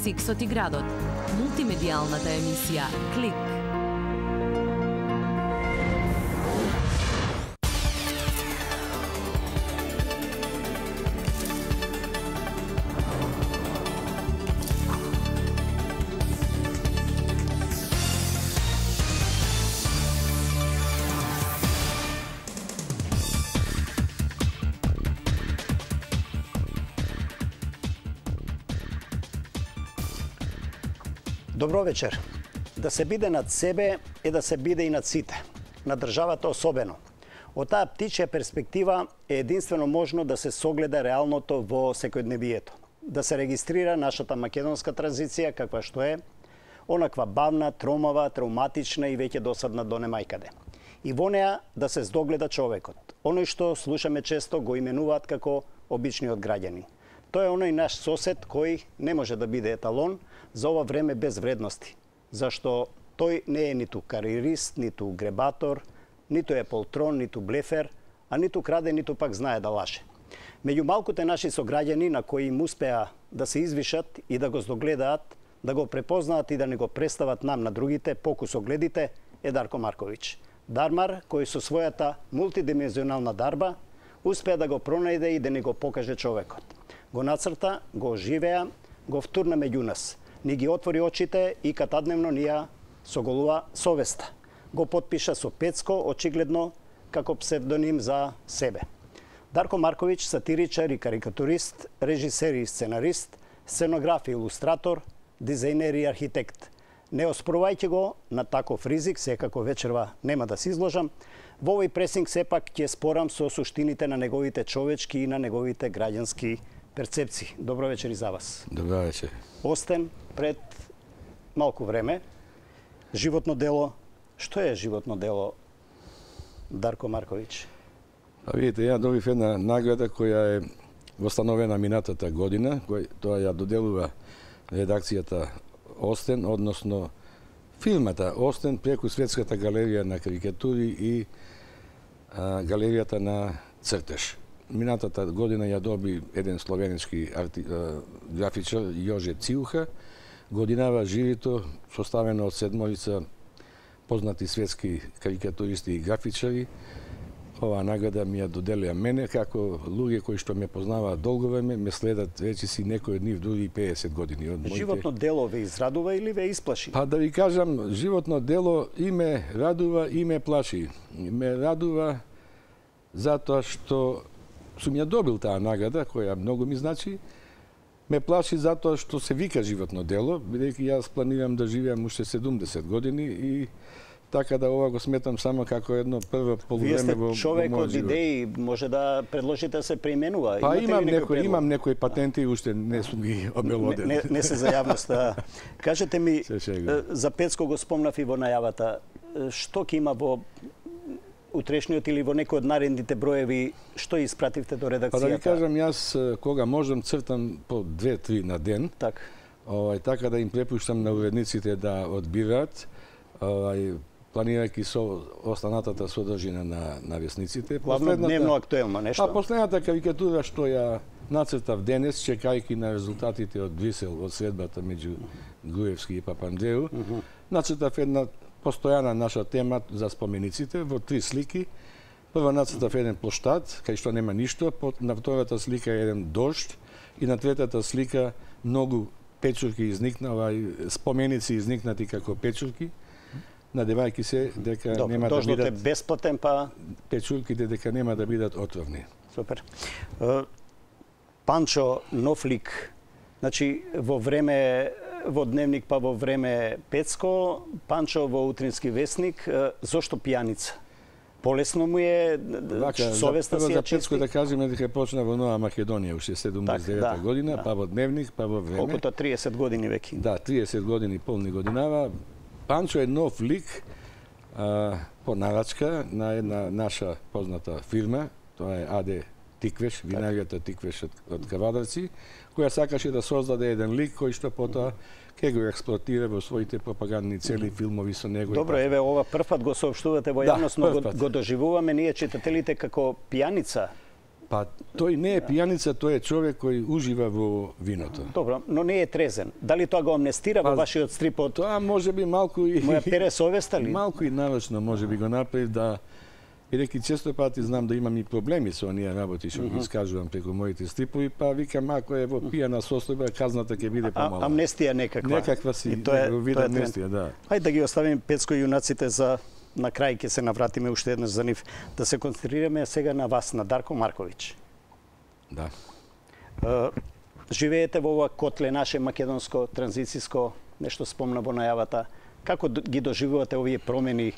Сиксот и градот. Мултимедијалната емисија Клик. Добро вечер. Да се биде над себе е да се биде и над сите. На државата особено. Од таа птичја перспектива е единствено можно да се согледа реалното во секојдневието. Да се регистрира нашата македонска транзиција каква што е, онаква бавна, тромава, травматична и веќе досадна до немајкаде. И во неа да се здогледа човекот. Оној што слушаме често го именуваат како обичниот граѓанин. Тој е оној наш сосед кој не може да биде еталон за ова време без вредности, зашто тој не е ниту кариерист, ниту гребатор, ниту е полтрон, ниту блефер, а ниту краде, ниту пак знае да лаже. Меѓу малкуте наши сограѓани на кои им успеа да се извишат и да го здогледаат, да го препознаат и да не го представат нам на другите, покусогледите, е Дарко Марковиќ. Дармар, кој со својата мултидимензионална дарба успеа да го пронајде и да не го покаже човекот. Го нацрта, го оживеа, го втурна меѓу нас. Ни ги отвори очите и катадневно ни ја соголува совеста. Го потпиша со Пецко, очигледно како псевдоним за себе. Дарко Марковиќ, сатиричар и карикатурист, режисер и сценарист, сценограф и илустратор, дизајнер и архитект. Не оспорувајќи го на таков ризик, секако вечерва нема да се изложам, во овој пресинг сепак ќе спорам со суштините на неговите човечки и на неговите граѓански перцепции. Добро вечер и за вас. Добро вечер. Остен пред малку време. Животно дело. Што е животно дело, Дарко Марковиќ? Видите, ја добив една награда која е востановена минатата година, тоа ја доделува редакцијата Остен, односно фирмата Остен преку Светската галерија на карикатури и галеријата на цртеж. Минатата година ја доби еден словенски графичар Јоже Циуха, годинава живито, составено од седморица познати светски карикатуристи и графичари. Оваа награда ми ја доделија мене, како луѓе кои што ме познаваат долго време, ме следат речиси некои од нив дури 50 години. Животно дело ве израдува или ве исплаши? Па да ви кажам, животно дело и ме радува и ме плаши. Ме радува затоа што сум ја добил таа награда, која многу ми значи. Ме плаши затоа што се вика животно дело, бидејќи јас планирам да живеам уште 70 години и така да ова го сметам само како едно прво полувреме во мојот живот. Вие сте човек од идеи, може да предложите да се преименува. Па имам некои патенти и уште не сум ги обелоден. Не се за јавноста. Кажете ми, за Пецко го спомнав и во најавата, што ќе има во утрешниот или во некој од наредните броеви, што испративте до редакцијата? Па да ви кажам, јас кога можам цртам по 2-3 на ден. Така да им препуштам на уредниците да одбираат, планирајќи со останатата содржина на весниците. Главно дневно актуелно нешто. Последната карикатура што ја нацртав денес, чекајќи на резултатите од Брисел, од средбата меѓу Груевски и Папандреу, нацртав една постојана наша тема за спомениците во 3 слики. Прва нацртав еден плоштад, кај што нема ништо, на втората слика е еден дожд и на третата слика многу печурки споменици изникнати како печурки, надевајќи се дека нема да бидат... Дождот е бесплатен, па... Печурките дека нема да бидат отровни. Супер. Панчо, нов лик. Значи, во Дневник, па во време Пецко, Панчо во Утрински вестник. Зошто пијаница? Полесно му е, совеста си ја чисти? За Пецко да кажеме дека почна во Нова Македонија, уште 79 година, па во Дневник, па во време. Колкото 30 години веќе. Да, 30 години полни годинава. Панчо е нов лик по нарачка на една наша позната фирма, тоа е АД Тиквеш, винаријата Тиквеш од Кавадарци, која сакаше да создаде еден лик кој што потоа ќе го експлоатира во своите пропагандни цели, филмови со него. Добро, еве ова првпат го соопштувате во јавност, но го доживуваме ние читателите како пијаница. Па тој не е пијаница, тој е човек кој ужива во виното. Добро, но не е трезен. Дали тоа го амнестира во вашиот стрип од... Тоа може би малку и... Моја пере совеста ли? Малку и нарочно може би го направи да... Бидејќи често пати знам да имам и проблеми со оние работи што ги искажувам преку моите стрипови, па викам ако е во пијана состојба, казната ќе биде помала. Амнестија некаква. Некаква си вид амнестија, да. Хајде да ги оставиме Пецко и јунаците за на крај, ќе се навратиме уште еднаш за нив. Да се концентрираме сега на вас, на Дарко Марковиќ. Да. Живеете во ова котле наше македонско, транзицијско, нешто спомна во најавата. Како ги доживувате овие промени?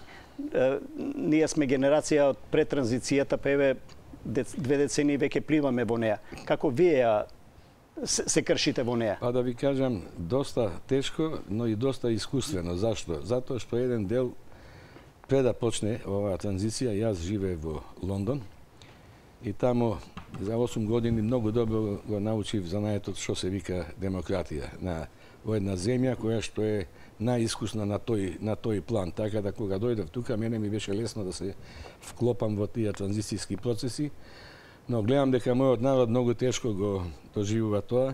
Ние сме генерација од пред транзицијата, па еве 2 децении веќе пливаме во неа. Како вие се кршите во неа? Па да ви кажам, доста тешко, но и доста искуствено. Зашто? Затоа што еден дел пред да почне оваа транзиција, јас живеев во Лондон и таму за 8 години многу добро го научив знаејот што се вика демократија во една земја која што е најискусна на тој план, така да кога дојдов тука мене ми беше лесно да се вклопам во тие транзицијски процеси, но гледам дека мојот народ многу тешко го доживува тоа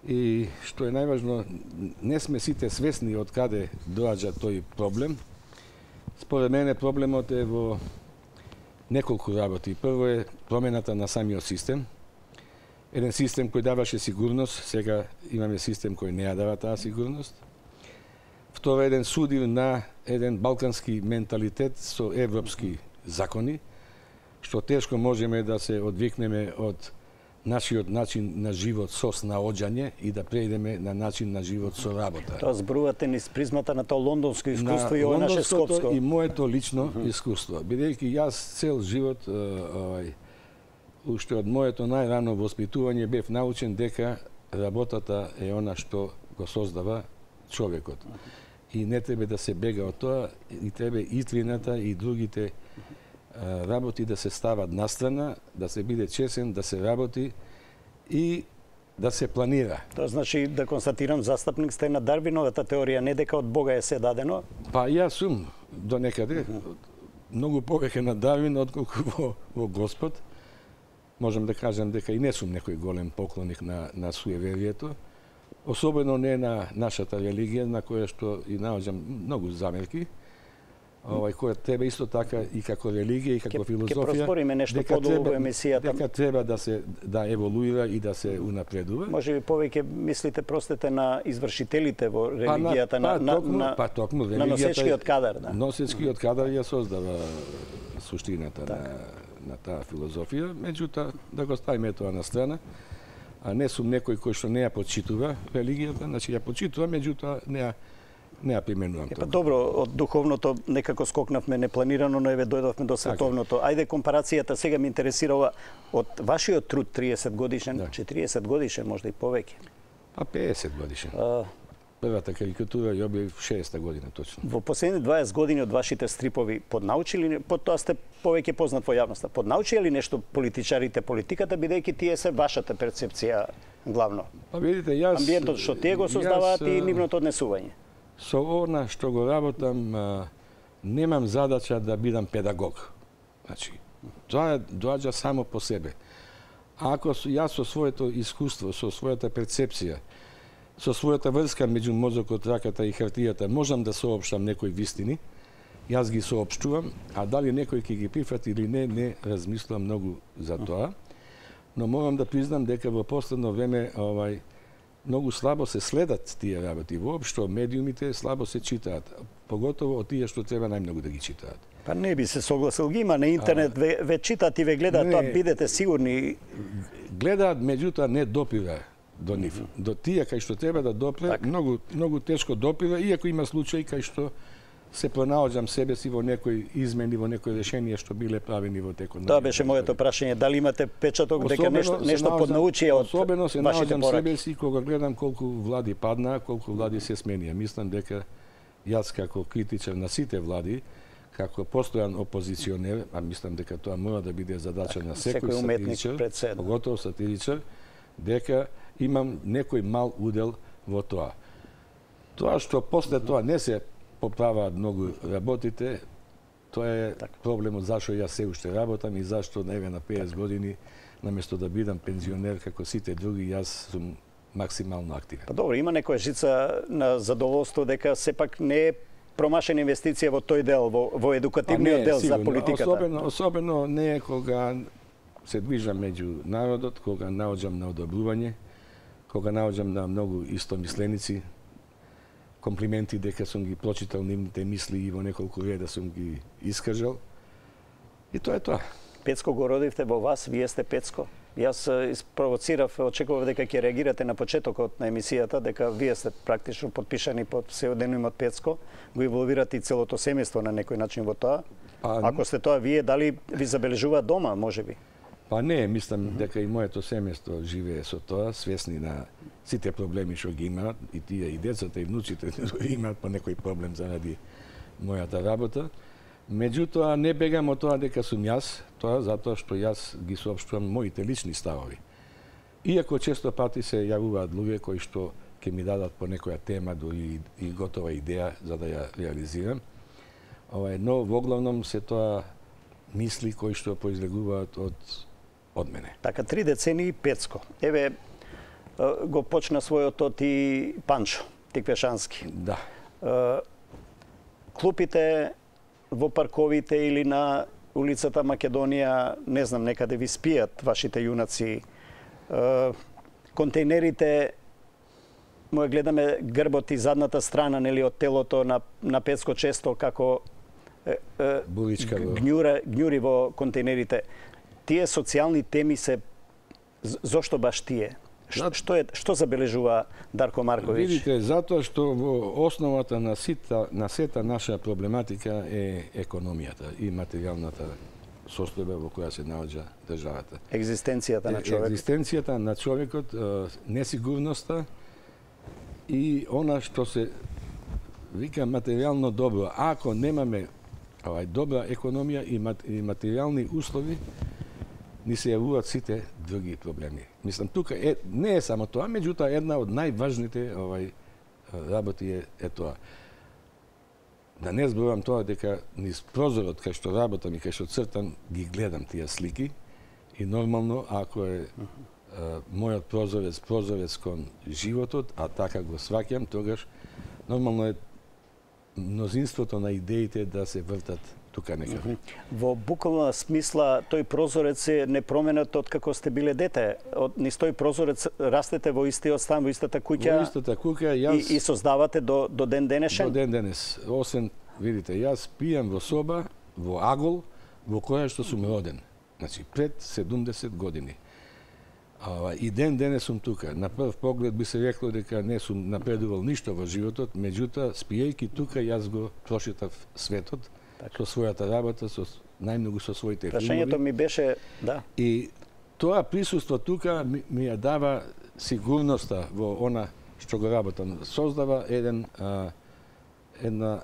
и што е најважно, не сме сите свесни од каде доаѓа тој проблем. Според мене проблемот е во неколку работи. Прво е промената на самиот систем. Еден систем кој даваше сигурност, сега имаме систем кој не ја дава таа сигурност. Второ, еден судир на еден балкански менталитет со европски закони, што тешко можеме да се одвикнеме од нашиот начин на живот со снаоѓање и да преидеме на начин на живот со работа. Тоа зборувате низ призмата на тоа лондонско искуство и ова наше скопско. И моето лично искуство. Бидејќи јас цел живот, уште од моето најрано воспитување бев научен дека работата е она што го создава човекот. И не треба да се бега од тоа, и треба итрината и другите работи да се стават настрана, да се биде чесен, да се работи и да се планира. Тоа значи да констатирам, застапник сте на Дарвиновата теорија, не дека од Бога е се дадено? Па јас сум до некаде многу повеќе на Дарвин отколку во Господ. Можам да кажам дека и не сум некој голем поклоник на суеверието, особено не на нашата религија, на која што и наоѓам многу замерки. Која треба исто така и како религија и како филозофија. Ќе проспориме нешто подолго во емисијата. Дека треба да еволуира и да се унапредува. Може би повеќе мислите простете на извршителите во религијата, на носечкиот кадар. Да. Носечкиот кадар ја создава суштината на таа филозофија, меѓутоа да го ставиме тоа на страна. А не сум некој кој што не ја почитува религијата, значи ја почитува, меѓутоа не ја применувам тоа. Добро, од духовното некако скокнавме непланирано, но еве дојдовме до световното. Ајде компарацијата сега ме интересира од вашиот труд 30 годишен, 40 годишен, можда и повеќе. Па 50 годишен. Првата карикатура ја објавив 60-та година точно. Во последните 20 години од вашите стрипови поднаучили, тоа сте повеќе познат во јавноста, поднаучили ли нешто политичарите политиката, бидејќи тие се вашата перцепција главно? Па видите, јас... Амбиентот што тие го создаваат и нивното однесување. Со она што го работам, немам задача да бидам педагог. Значи, тоа доаѓа само по себе. Ако јас со своето искуство, со својата перцепција, со својата врска меѓу мозокот, раката и хартијата, можам да соопштам некои вистини, јас ги соопштувам, а дали некој ќе ги прифати или не размислувам многу за тоа. Но морам да признам дека во последно време многу слабо се следат тие работи. Воопшто медиумите слабо се читаат, поготово од тие што треба најмногу да ги читаат. Па не би се согласил, ги има на интернет, ве читаат и ве гледаат, тоа бидете сигурни. Гледаат, меѓутоа не допира до нив. До тие кај што треба да допре, многу тешко допира, иако има случаи кај што се пронаоѓам себе си во некои измени, во некои решенија што биле правени во текот на... Тоа беше моето прашање, дали имате печаток дека нешто поднаучија од вашите пораки? Особено се наоѓам себе си кога гледам колку влади паднаа, колку влади се сменија. Мислам дека јас како критичар на сите влади, како постојан опозиционер, а мислам дека тоа мора да биде задача на секој сатиричар, поготово сатиричар, дека имам некој мал удел во тоа. Тоа што после тоа не се поправаат многу работите, тоа е проблемот зашто јас се уште работам и зашто еве на 50 години наместо да бидам пензионер како сите други, јас сум максимално активен. Па добро, има некоја жица на задоволство дека сепак не е промашена инвестиција во тој дел, во едукативниот дел сигурно. за политиката. Особено не е кога се движам меѓу народот, кога наоѓам на одобрување, кога наоѓам на многу истомисленици, комплименти дека сум ги прочитал нивните мисли и во неколку реда сум ги искажал. И тоа е тоа. Пецко го родивте во вас, вие сте Пецко. Јас испровоцирав, очекував дека ќе реагирате на почетокот на емисијата, дека вие сте практично подпишани под псевдонимот Пецко, го инволвирате и целото семејство на некој начин во тоа. Ако сте тоа вие, дали ви забележува дома, можеби? Па не, мислам дека и моето семејство живее со тоа, свесни на сите проблеми што ги имаат, и тие и децата и внуците имаат по некој проблем заради мојата работа. Меѓутоа, не бегам од тоа дека сум јас, тоа затоа што јас ги соопштувам моите лични ставови. Иако често пати се јавуваат луѓе кои што ќе ми дадат по некоја тема дури и готова идеја за да ја реализирам, но во главном се тоа мисли кои што произлегуваат од мене. Така, 3 децении Пецко. Еве, го почна својото ти Панчо, Тиквешански. Да. Клупите во парковите или на улицата Македонија, не знам, некаде ви спијат вашите јунаци. Контейнерите, му гледаме грбот и задната страна, нели, од телото на Пецко често како гњури во контейнерите. Тие социјални теми се, зошто баш тие? Што забележува Дарко Марковиќ? Видите, затоа што во основата на сета наша проблематика е економијата и материјалната состојба во која се наоѓа државата. Екзистенцијата на човекот. Екзистенцијата на човекот, несигурноста и она што се вика материјално добро. Ако немаме добра економија и материјални услови, ни се јавуваат сите други проблеми. Мислам, тука не е само тоа, меѓутоа една од најважните работи е тоа. Да не зборувам тоа дека низ прозорот кај што работам и кај што цртам ги гледам тие слики и нормално ако е мојот прозорец кон животот, а така го сваќам, тогаш нормално е мнозинството на идеите да се вртат тука некаде. Во буквална смисла, тој прозорец е непроменет од како сте биле дете. Низ тој прозорец растете во истиот стан, во истата куќа. Во истата куќа, јас и создавате до ден денешен. До ден денес. Освен, видите, јас пијам во соба, во агол, во која што сум роден. Значи, пред 70 години. И ден денес сум тука. На прв поглед би се рекло дека не сум напредувал ништо во животот, меѓутоа, спијајќи тука, јас го прошетав светот, со својата работа, најмногу со своите филмови. Прашањето ми беше, да. И тоа присуство тука ми ја дава сигурноста во она што го работам. Создава една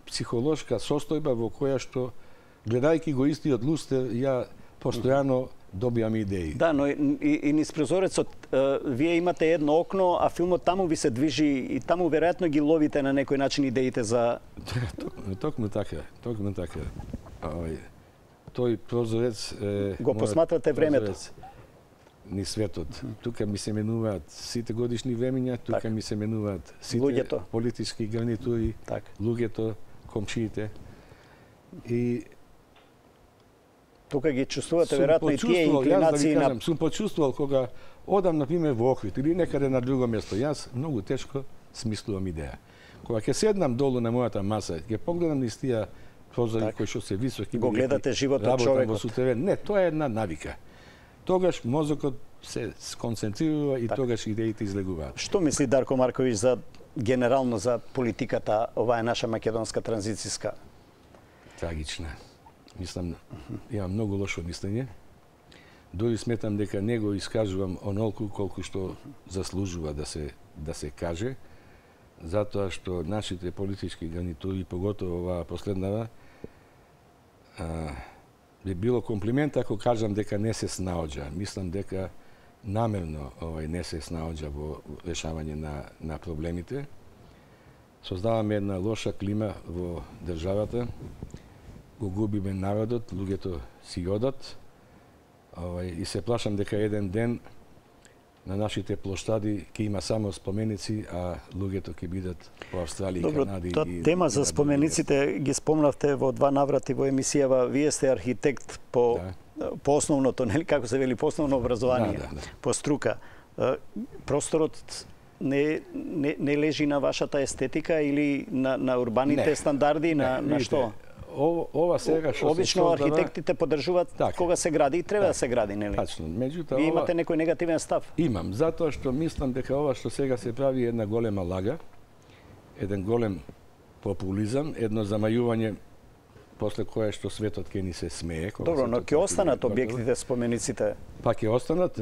психолошка состојба во која што, гледајќи го истиот лустер, ја постојано добиам идеи. Да, но и низ прозорецот вие имате едно окно, а филмот таму ви се движи и таму веројатно ги ловите на некој начин идеите за... Токму така. Тој прозорец е... Го посматрате времето. Ни светот. Тука ми се менуваат сите годишни времења, тука ми се менуваат сите политички гарнитури, луѓето, комшиите. И тука ги чувствувате веројатно и тие инклинации на... Сум почувствувал кога одам, например, во Охрид или некаде на друго место. Јас многу тешко смислувам идеја. Кога ќе седнам долу на мојата маса, ќе погледам низ тие прозори кои што се високи, го гледате животот човекот. Не, тоа е една навика. Тогаш мозокот се сконцентрира и тогаш идеите излегуваат. Што мисли Дарко Марковиќ за генерално за политиката, оваа наша македонска транзицијска? Трагична. Мислам, имам многу лошо мислење. Дори сметам дека не го искажувам онолку колку што заслужува да се каже, затоа што нашите политички гарнитури, поготово оваа последнава, би било комплимент ако кажам дека не се снаоѓа. Мислам дека намерно не се снаоѓа во решавање на проблемите. Создаваме една лоша клима во државата, го губиме народот, луѓето си одат, И се плашам дека еден ден на нашите плоштади ќе има само споменици, а луѓето ќе бидат во Австралија и Канади. Добро, тема за спомениците ги спомнавте во 2 наврати во емисијава. Вие сте архитект по основното, нели, како се вели, по основно образование, по струка. Просторот не лежи на вашата естетика или на урбаните стандарди, на што? Ова сега што обично архитектите поддржуваат кога се гради и треба да се гради, нели? Тачно. Меѓутоа, вие имате некој негативен став? Имам, затоа што мислам дека ова што сега се прави е една голема лага, еден голем популизам, едно замајување после кое што светот ќе ни се смее. Добро, но ќе останат објектите, спомениците? Па ќе останат,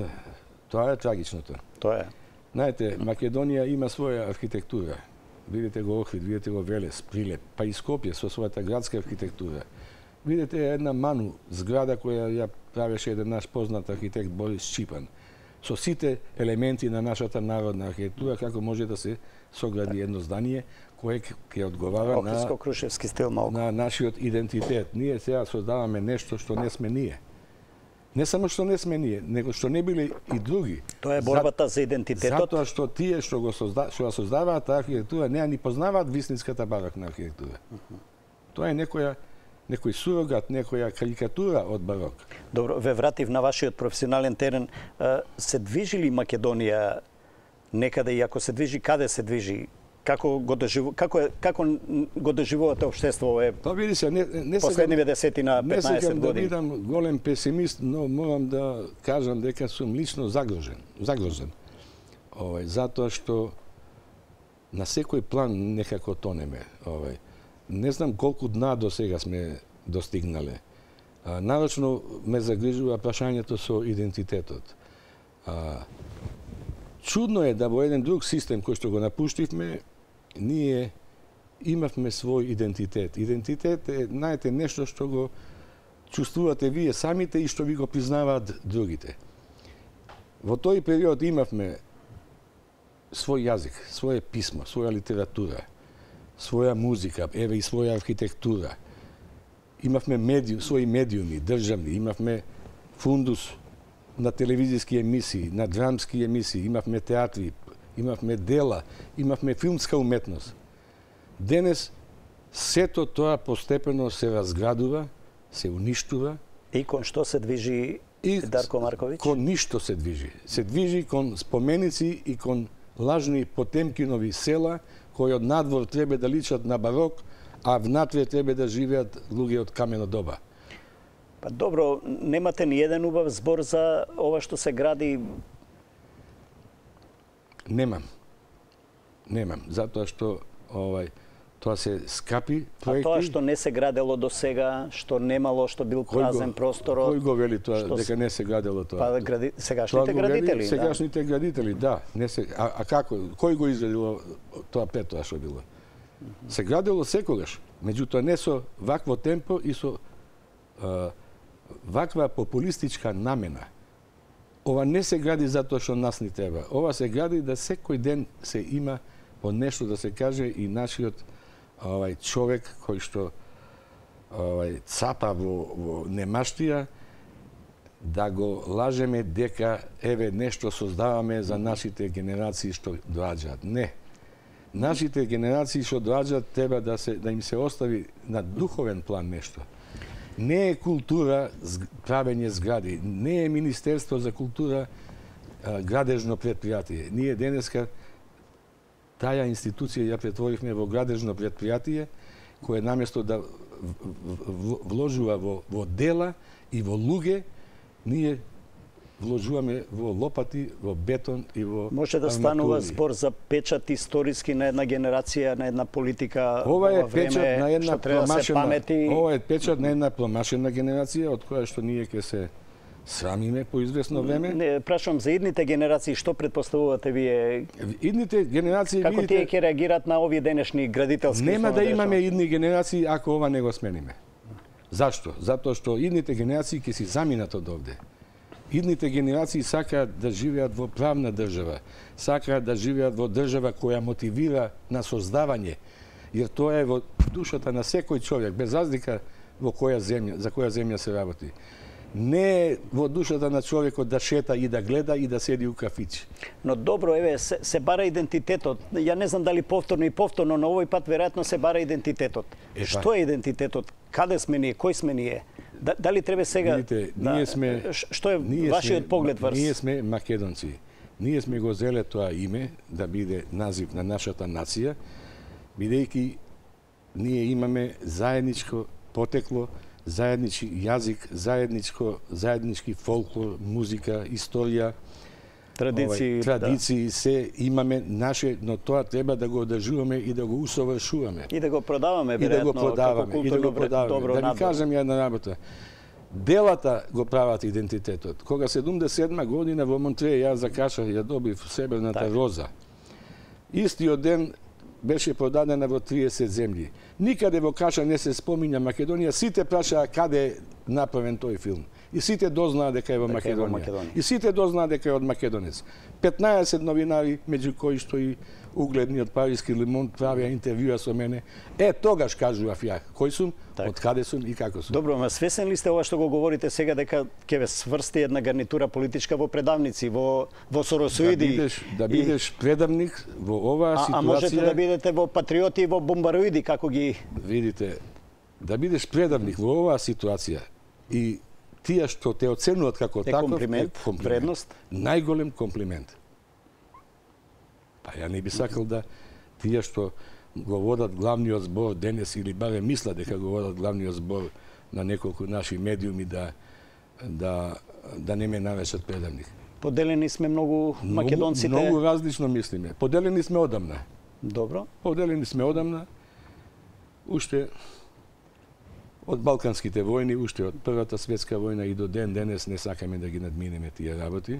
тоа е трагичното. Тоа е. Знаете, Македонија има своја архитектура. Видите го Охрид, видите го Велес, Прилеп, па и Скопје со својата градска архитектура. Видите една ману зграда која ја правеше еден наш познат архитект Борис Чипан. Со сите елементи на нашата народна архитектура, како може да се согради едно здание кое ќе одговара Охридско-крушевски стил малку на нашиот идентитет. Ние сега создаваме нешто што не сме ние. Не само што не сме ние, него што не били и други. Тоа е борбата за идентитетот. Затоа што тие што ја создаваат таа архитектура не ни познаваат вистинската барокна архитектура. Тоа е некој сурогат, некоја карикатура од барок. Добро, ве вратив на вашиот професионален терен. Се движи ли Македонија некаде и ако се движи, каде се движи? Како го доживувате општество види се, не последниве 10 на 15 години? Не сакам да бидам голем песимист, но морам да кажам дека сум лично загрозен. Затоа што на секој план некако тонеме. Не знам колку дна до сега сме достигнале. Нарочно ме загрижува прашањето со идентитетот. Чудно е да во еден друг систем кој што го напуштивме, ние имавме свој идентитет. Идентитет е, знаете, нешто што го чувствувате вие самите и што ви го признаваат другите. Во тој период имавме свој јазик, своје писмо, своја литература, своја музика, еве и своја архитектура. Имавме свои медиуми, државни, имавме фундус на телевизиски емисии, на драмски емисии, имавме театри, имавме дела, имавме филмска уметност. Денес сето тоа постепено се разградува, се уништува. И кон што се движи Дарко Марковиќ? Кон ништо се движи. Се движи кон споменици и кон лажни Потемкинови села, кои од надвор треба да личат на барок, а внатре треба да живеат луѓе од камено доба. Па добро, немате ни еден убав збор за ова што се гради? Немам, затоа што тоа се скапи проекти. А тоа што не се градело до сега, што немало, што бил празен просторот? Кој го вели тоа, дека не се градело тоа? Па сегашните градители, сегашните градители, да. А како? Кој го изградило тоа пето што било? Се градело секогаш, меѓутоа не со вакво темпо и со ваква популистичка намена. Ова не се гради затоа што нас ни треба. Ова се гради да секој ден се има по нешто да се каже и нашиот човек кој што цапа во немаштија да го лажеме дека еве нешто создаваме за нашите генерации што доаѓаат. Не. Нашите генерации што доаѓаат треба да им се остави на духовен план нешто. Не е култура правење згради, не е Министерство за култура градежно предпријатие. Ние денеска таа институција ја претворивме во градежно предпријатие кое наместо да вложува во дела и во луѓе, ние вложуваме во лопати, во бетон и во може да станува збор за печат историски на една генерација, на една политика. Ова е печат на една печат на една промашена генерација од која што ние ќе се срамиме по известно време. Не, прашувам за идните генерации, што претпоставувате вие? Идните генерации, како тие ќе реагираат на овие денешни градителски? Нема да имаме идни генерации ако ова не го смениме. Зашто? Затоа што идните генерации ќе си заминат од овде. Идните генерации сакаат да живеат во правна држава, сакаат да живеат во држава која мотивира на создавање, jer тоа е во душата на секој човек, без разлика во која земја, за која земја се работи. не е во душата на човекот да шета и да гледа и да седи у кафич. Но добро, еве, се бара идентитетот. Ја не знам дали повторно и повторно, но овој пат веројатно се бара идентитетот. Што е идентитетот? Каде сме ние? Кој сме ние? Дали треба сега... Видите, ние сме... Што е вашиот поглед врз? Ние сме македонци. Ние сме го зеле тоа име да биде назив на нашата нација, бидејќи ние имаме заедничко потекло, заеднички јазик, заеднички фолклор, музика, историја, традиции, се имаме наше, но тоа треба да го одржуваме и да го усовршуваме. И да го продаваме, веројатно, и да го продаваме. Да ви кажам една работа. Делата го прават идентитетот. Кога 77 година во Монтреј јас закашах, ја добив Сребрната роза. Истиот ден беше продадена во 30 земји. Никаде во Каша не се спомиња Македонија, сите прашаа каде е направен тој филм. И сите дознаа дека е во Македонија. И сите дознаа дека е од македонец. 15 новинари, меѓу кои што и угледниот париски Лимон правеа интервјуа со мене. Тогаш кажував ја кој сум, од каде сум и како сум. Добро, ма свесен ли сте ова што го говорите сега дека ќе ве сврсти една гарнитура политичка во предавници, во соросоиди? Да бидеш предавник во оваа ситуација. А можете да бидете во патриоти и во бомбароиди, како ги... Видите, да бидеш предавник во оваа ситуација и тие што те оценуваат како таков, комплимент, вредност. Најголем комплимент. Па ја не би сакал да тие што го водат главниот збор денес или баре мислат дека го водат главниот збор на неколку наши медиуми да не ме наречат предавник. Поделени сме многу македонците. Многу различно мислиме. Поделени сме одамна. Добро. Поделени сме одамна. Уште од Балканските војни, уште од Првата светска војна и до ден денес не сакаме да ги надминеме тие работи.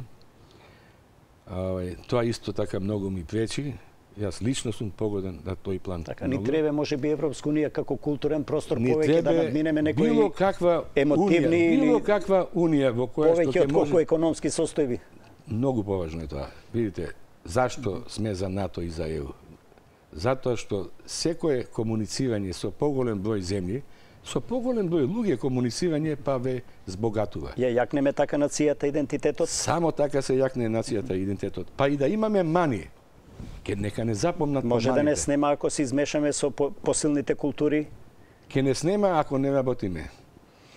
Тоа исто така многу ми пречи. Јас лично сум погоден на тој план. Така, ни треба можеби Европска унија како културен простор повеќе да надминеме некои било каква емотивни унија, било каква унија во која што ќе може... Повеќе од колку економски состојби. Многу поважно е тоа. Видите, зашто сме за НАТО и за ЕУ? Затоа што секое комуницирање со поголем број земји, со поголем број луѓе комуницирање па ве збогатува. Ја јакнеме така нацијата идентитетот? Само така се јакне нацијата идентитетот. Па и да имаме мани, ке нека не запомнат може да не снема ако се измешаме со посилните култури? Ке не снема ако не работиме.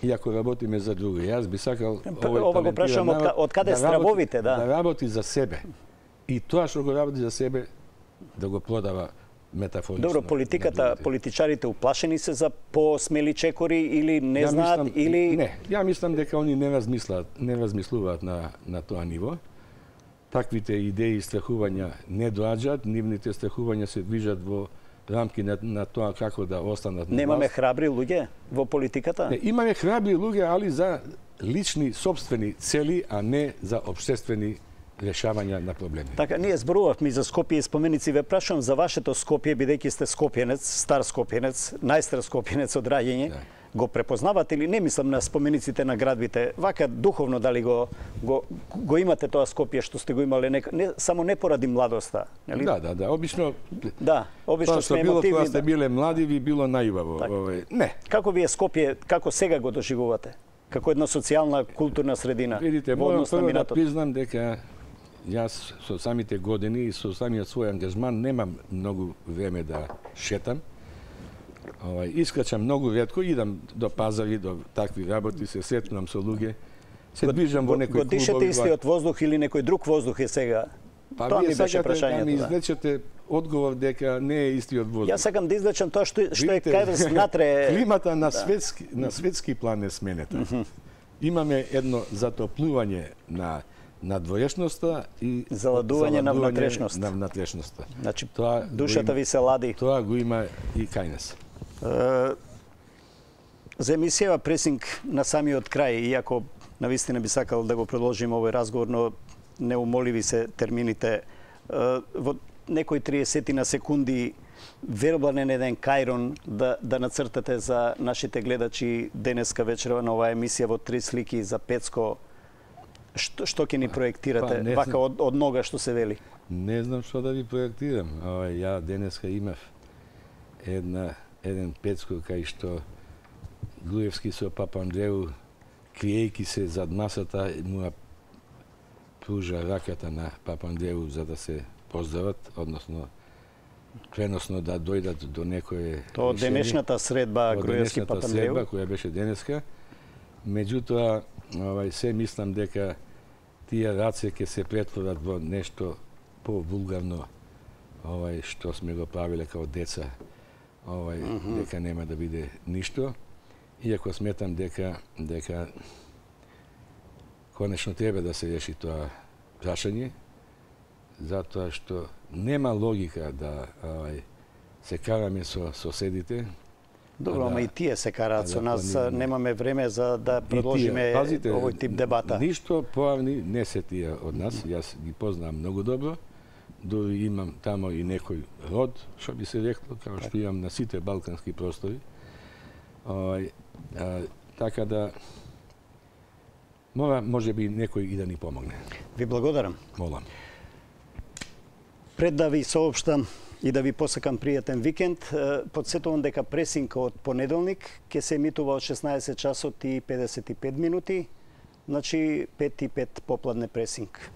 И ако работиме за други. Јас би сакал ова го прашувам од каде стравовите, да работи за себе. И тоа што го работи за себе да го продава метафорично. Добро, политиката, политичарите уплашени се за посмели чекори или не знаат или не. Ја мислам дека они не размислуваат на тоа ниво. Таквите идеи и страхувања не доаѓаат, нивните страхувања се движат во рамки на тоа како да останат на власт. Немаме храбри луѓе во политиката? Не, имаме храбри луѓе, али за лични, собствени цели, а не за општествени решавања на проблеми. Така, ние зборувавме за Скопје и споменици. Ве прашувам за вашето Скопје, бидејќи сте скопјенец, стар скопјенец, најстар скопјенец од раѓење. Да. Го препознавате или не мислам на спомениците на градбите, вака духовно дали го имате тоа Скопје што сте го имале не само не поради младоста, нели? Да, обично. Да, обично сме емотивни. Кога сте биле млади, ви било најубаво. Не. Како ви е Скопје, како сега го доживувате? Како една социјална, културна средина? Видите, морам прво да признам дека јас со самите години и со самиот свој ангажман немам многу време да шетам. Искачам многу ретко, идам до пазари, до такви работи, се сретнувам со луѓе. Се движам во некои клубови. Дишете истиот воздух или некој друг воздух е сега? Па вие сакате да ми извлечете одговор дека не е истиот воздух. Јас сакам да извлечам тоа што е кај натре. Климата на светски план е сменета. Имаме едно затоплување на надвоешноста и заладување на внатрешноста. Значи, душата ви се лади. Тоа го има и кај нас. За емисија пресинг на самиот крај, иако навистина би сакал да го продолжим овој разговор, но неумоливи се термините. Во некои 30 на секунди вербален еден кајрон да нацртате за нашите гледачи денеска вечерва на оваа емисија во 3 слики за Пецко. Што ќе ни проектирате, вака од нога што се вели? Не знам што да ви проектирам. Ја денеска имав еден Пецко кај што Груевски со Папа Андреу криејки се зад масата, му пружа раката на Папандреу за да се поздрават, односно преносно да дојдат до некое Тоа денешната средба Груевски Папандреу, средба која беше денеска. Меѓутоа, се мислам дека тие раце ќе се претворат во нешто повулгарно, што сме го правиле као деца, дека нема да биде ништо. Иако сметам дека конечно треба да се реши тоа прашање, затоа што нема логика да се караме со соседите. Добро, ама и тие се караат со нас, немаме време за да продолжиме овој тип дебата. Ништо поавни не се тие од нас, јас ги познавам многу добро, дури имам тамо и некој род, што би се рекло, како што имам на сите балкански простори. Така да може би некој и да ни помогне. Ви благодарам. Молам. Пред да ви соопштам и да ви посакам пријатен викенд, подсетувам дека пресинка од понеделник ќе се емитува од 16 часот и 55 минути, значи 5 и 5 попладне пресинг.